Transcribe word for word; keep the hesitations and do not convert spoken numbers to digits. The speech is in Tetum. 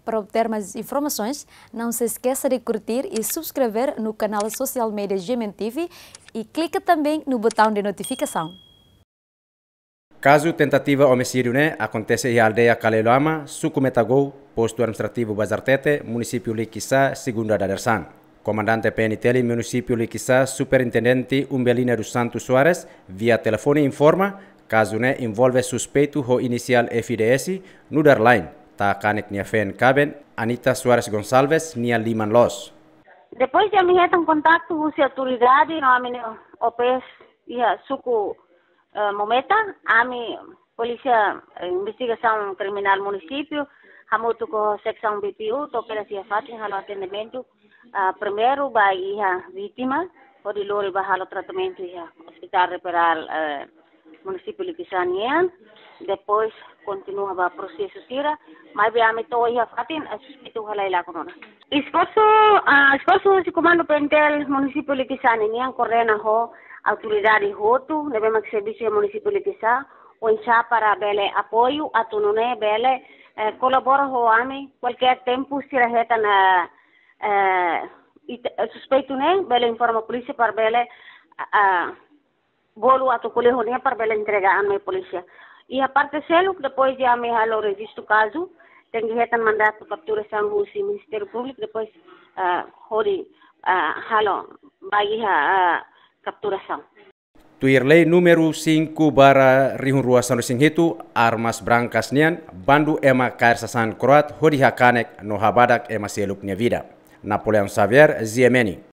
Para obter mais informações, não se esqueça de curtir e subscrever no canal social media G M N T V e clica também no botão de notificação. Kazu tentativa omisídiu ne'e akontese iha aldeia Kaleilama, suku Metagou, postu administrativu Bazartete, munisípiu Likisá, segunda dadeer-saan. Komandante P N T L munisípiu Likisá, Superintendente Umbelina dos Santos Soares, via telefone informa, kazu ne'e envolve suspeitu ho inisiál F D S, nu'udar Lain, Ta'a Kanek nia feen kaben, Anita Soares Gonçalves, nia liman loos. Depois de ami hetan kontaktu husi autoridade no ami-nia O Ps iha suku, eh, Mometa, ami Polísia, eh, Investigasaun Kriminál munisípiu hamutuk ho seksaun B P U to'o kedas iha fatin halo atendimentu, ah, primeiru ba iha vítima, hodi lori ba halo tratamentu iha Hospital Referral, eh, munisípiu Likisá nian, depois kontinua ba prosesu sira, maibé ami to'o iha fatin, eh, suspeitu halai lakon ona. Esforsu, ah, esforsu husi Komandu P N T L munisípiu Likisá nian koordena ho autoridade hotu ne'ebé mak servisu iha munisípiu Likisá, oinsá para bele apoiu atu nune'e bele, eh, kolabora ho ami, kualkér tempu sira hetan, eh, eh, it-, eh, suspeitu ne'e bele informa polísia para bele, ah, ah, bolu atu ko'alia ho nia para bele entrega an mai polísia. Iha parte seluk, depois de ami halo rejistu kazu, tenke hetan mandatu kapturasaun husi Ministériu Públiku, depois, ah, hodi, ah, halo ba iha, ah, kapturasaun. Tuir lei númeru cinco barra rihun rua sanulu-resin-hitu, armas brankas nian, bandu ema kaer sasán kro'at hodi hakanek no habadak ema seluk nia vida. Napoleão Xavier, G M N.